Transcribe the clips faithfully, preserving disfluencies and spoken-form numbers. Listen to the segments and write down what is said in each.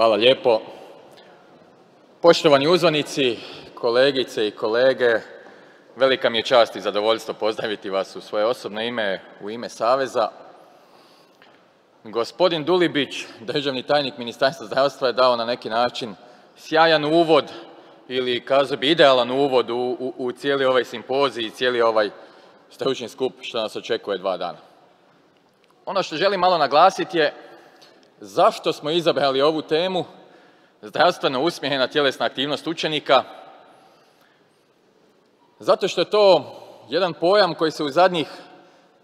Hvala lijepo. Poštovani uzvanici, kolegice i kolege, velika mi je čast i zadovoljstvo pozdraviti vas u svoje osobno ime, u ime Saveza. Gospodin Dulibić, državni tajnik Ministarstva zdravstva, je dao na neki način sjajan uvod ili kazao bi idealan uvod u, u, u cijeli ovaj simpozij i cijeli ovaj stručni skup što nas očekuje dva dana. Ono što želim malo naglasiti je zašto smo izabrali ovu temu zdravstveno usmjerena tjelesna aktivnost učenika. Zato što je to jedan pojam koji se u zadnjih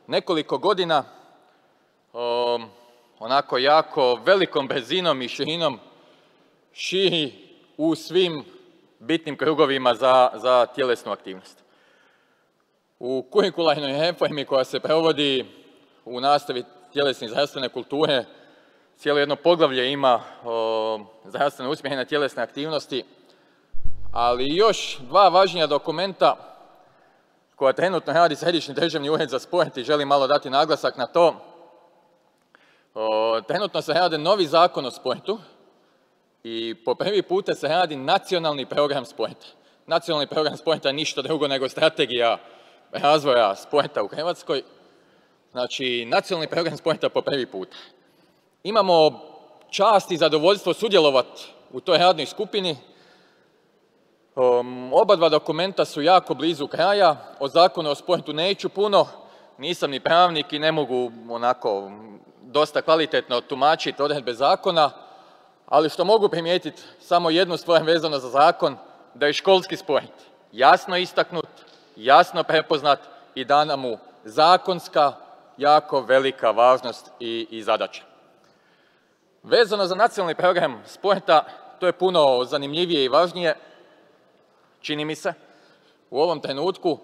nekoliko godina um, onako jako velikom brzinom i širinom širi u svim bitnim krugovima za, za tjelesnu aktivnost. U kurikularnoj reformi koja se provodi u nastavi tjelesne i zdravstvene kulture cijelo jedno poglavlje ima o zdravstveno usmjerene tjelesne aktivnosti, ali još dva važnija dokumenta koja trenutno radi Središnji državni ured za sport i želim malo dati naglasak na to. O, trenutno se radi novi zakon o sportu i po prvi puta se radi nacionalni program sporta. Nacionalni program sporta je ništa drugo nego strategija razvoja sporta u Hrvatskoj. Znači, nacionalni program sporta po prvi puta. Imamo čast i zadovoljstvo sudjelovati u toj radnoj skupini. Um, oba dva dokumenta su jako blizu kraja. O zakonu o sportu neću puno, nisam ni pravnik i ne mogu onako dosta kvalitetno tumačiti odredbe zakona, ali što mogu primijetiti samo jednu stvar vezano za zakon, da je školski sport jasno istaknut, jasno prepoznat i dana mu zakonska, jako velika važnost i, i zadaća. Vezano za nacionalni program sporta, to je puno zanimljivije i važnije, čini mi se, u ovom trenutku.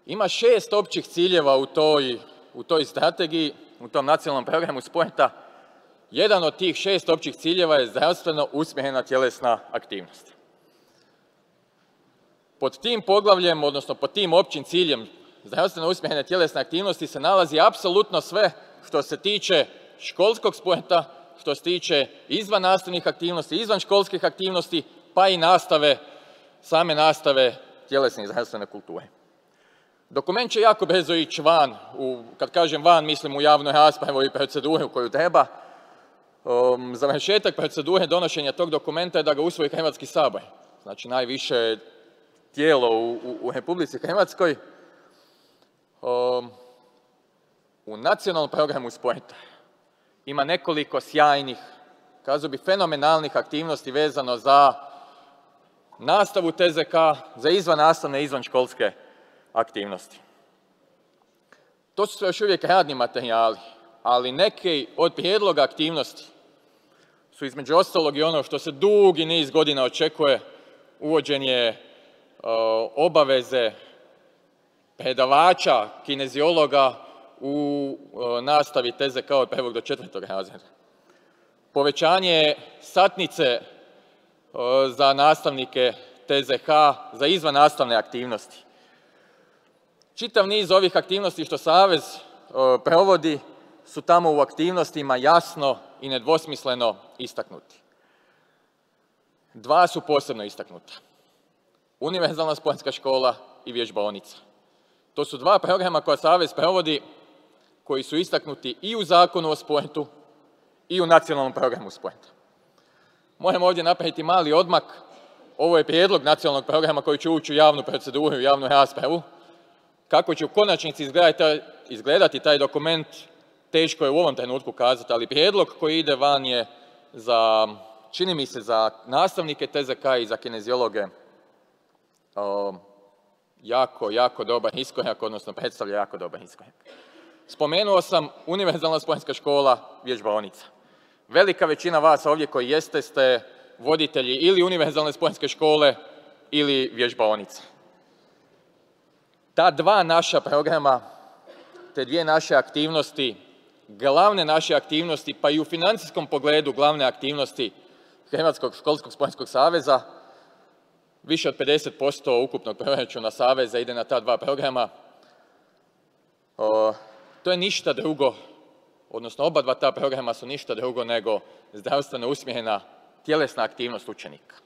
Ima šest općih ciljeva u toj, u toj strategiji, u tom nacionalnom programu sporta. Jedan od tih šest općih ciljeva je zdravstveno usmjerena tjelesna aktivnost. Pod tim poglavljem, odnosno pod tim općim ciljem zdravstveno usmjerene tjelesne aktivnosti se nalazi apsolutno sve što se tiče školskog sporta, što se tiče izvan nastavnih aktivnosti, izvan školskih aktivnosti, pa i nastave, same nastave tjelesne i zdravstvene kulture. Dokument će jako brzo ići van, u, kad kažem van, mislim u javnu raspravu i proceduru koju treba. Um, završetak procedure donošenja tog dokumenta je da ga usvoji Hrvatski sabor, znači najviše tijelo u, u, u Republici Hrvatskoj. Um, u nacionalnom programu sporta ima nekoliko sjajnih, kazao bih fenomenalnih aktivnosti vezano za nastavu T Z K, za izvannastavne i izvanškolske aktivnosti. To su još uvijek radni materijali, ali neki od prijedloga aktivnosti su između ostalog i ono što se dugi niz godina očekuje, uvođenje uh, obaveze predavača, kineziologa u uh, nastavi T Z K od prvog do četvrtog razreda. Povećanje satnice uh, za nastavnike T Z K za izvannastavne aktivnosti. Čitav niz ovih aktivnosti što Savez uh, provodi su tamo u aktivnostima jasno i nedvosmisleno istaknuti. Dva su posebno istaknuta. Univerzalna sportska škola i vježbaonica. To su dva programa koja Savez provodi, koji su istaknuti i u Zakonu o sportu i u nacionalnom programu sporta. Moram ovdje napraviti mali odmak. Ovo je prijedlog nacionalnog programa koji će ući u javnu proceduru, u javnu raspravu. Kako će u konačnici izgledati, izgledati taj dokument, teško je u ovom trenutku kazati, ali prijedlog koji ide van je za, čini mi se, za nastavnike T Z K i za kineziologe o, jako, jako dobar iskorak, odnosno predstavlja jako dobar iskorak. Spomenuo sam univerzalna sportska škola, vježbaonica. Velika većina vas ovdje koji jeste ste voditelji ili univerzalne sportske škole ili vježbaonice. Ta dva naša programa, te dvije naše aktivnosti, glavne naše aktivnosti, pa i u financijskom pogledu glavne aktivnosti Hrvatskog školskog sportskog saveza, više od pedeset posto ukupnog proračuna Saveza ide na ta dva programa. O, to je ništa drugo, odnosno oba dva ta programa su ništa drugo nego zdravstveno usmjerena tjelesna aktivnost učenika.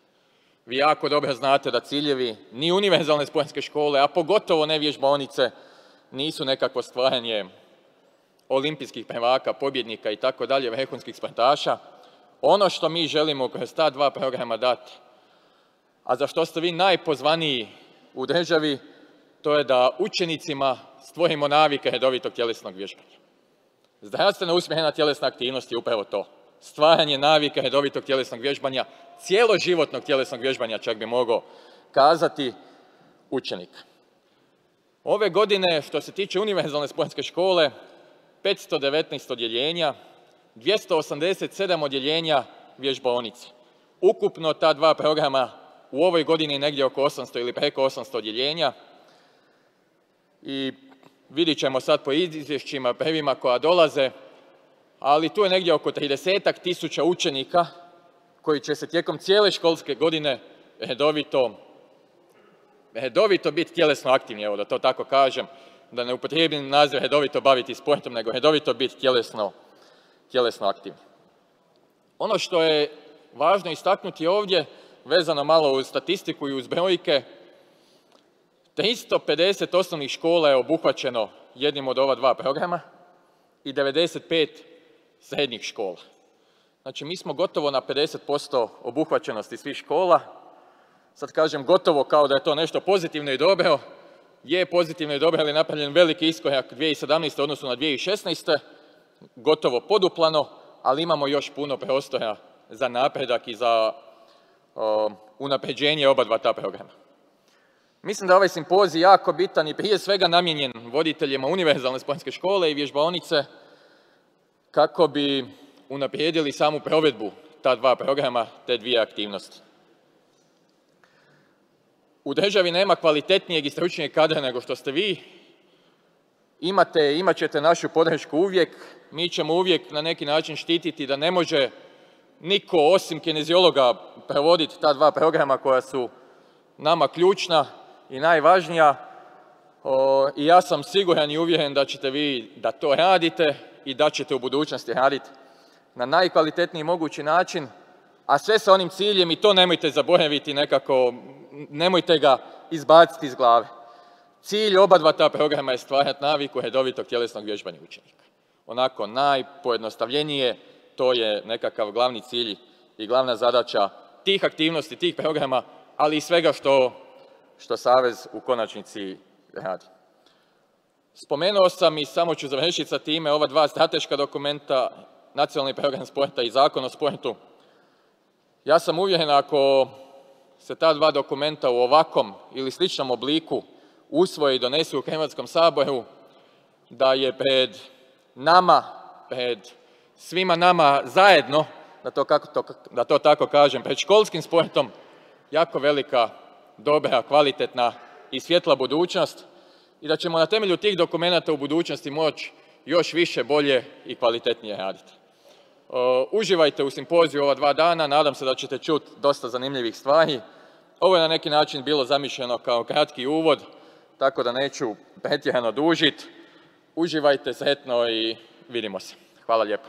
Vi jako dobro znate da ciljevi ni univerzalne sportske škole, a pogotovo ne vježbaonice, nisu nekakvo stvaranje olimpijskih prvaka, pobjednika i tako dalje, vrhunskih sportaša. Ono što mi želimo kroz ta dva programa dati, a za što ste vi najpozvaniji u državi, to je da učenicima stvorimo navike redovitog tjelesnog vježbanja. Zdravstveno usmjerena tjelesna aktivnost je upravo to. Stvaranje navika redovitog tjelesnog vježbanja, cijeloživotnog tjelesnog vježbanja, čak bi mogao kazati, učenika. Ove godine, što se tiče univerzalne sportske škole, petsto devetnaest odjeljenja, dvjesto osamdeset sedam odjeljenja vježbaonice. Ukupno ta dva programa u ovoj godini negdje oko osamsto ili preko osamsto odjeljenja. I vidjet ćemo sad po izvješćima prvima koja dolaze, ali tu je negdje oko tridesetak tisuća učenika koji će se tijekom cijele školske godine redovito, redovito biti tjelesno aktivni, evo da to tako kažem, da ne upotrijebim naziv redovito baviti sportom, nego redovito biti tjelesno, tjelesno aktivni. Ono što je važno istaknuti ovdje, vezano malo uz statistiku i uz brojke, tristo pedeset osnovnih škola je obuhvaćeno jednim od ova dva programa i devedeset pet srednjih škola. Znači, mi smo gotovo na pedeset posto obuhvaćenosti svih škola. Sad kažem gotovo kao da je to nešto pozitivno i dobro. Je pozitivno i dobro, ali je napravljen veliki iskorak dvije tisuće sedamnaeste. u odnosu na dvije tisuće šesnaeste. Gotovo poduplano, ali imamo još puno prostora za napredak i za o, unapređenje oba dva ta programa. Mislim da je ovaj simpozij jako bitan i prije svega namijenjen voditeljima univerzalne sportske škole i vježbaonice kako bi unaprijedili samu provedbu ta dva programa, te dvije aktivnosti. U državi nema kvalitetnijeg i stručnijeg kadra nego što ste vi. Imate, imat ćete našu podršku uvijek. Mi ćemo uvijek na neki način štititi da ne može niko osim kineziologa provoditi ta dva programa koja su nama ključna i najvažnija. O, I ja sam siguran i uvjeren da ćete vi da to radite i da ćete u budućnosti raditi na najkvalitetniji mogući način, a sve sa onim ciljem, i to nemojte zaboraviti nekako, nemojte ga izbaciti iz glave. Cilj oba dva ta programa je stvarati naviku redovitog tjelesnog vježbanja učenika. Onako najpojednostavljenije, to je nekakav glavni cilj i glavna zadaća tih aktivnosti, tih programa, ali i svega što, što Savez u konačnici radi. Spomenuo sam i samo ću završiti sa time ova dva strateška dokumenta, Nacionalni program sporta i Zakon o sportu. Ja sam uvjeren ako se ta dva dokumenta u ovakvom ili sličnom obliku usvoje i donesu u Hrvatskom saboru, da je pred nama, pred svima nama zajedno, da to, kako to, da to tako kažem, pred školskim sportom, jako velika, dobra, kvalitetna i svjetla budućnost i da ćemo na temelju tih dokumenata u budućnosti moći još više, bolje i kvalitetnije raditi. Uh, uživajte u simpoziju ova dva dana, nadam se da ćete čuti dosta zanimljivih stvari. Ovo je na neki način bilo zamišljeno kao kratki uvod, tako da neću pretjerano dužiti. Uživajte, sretno i vidimo se. Hvala lijepo.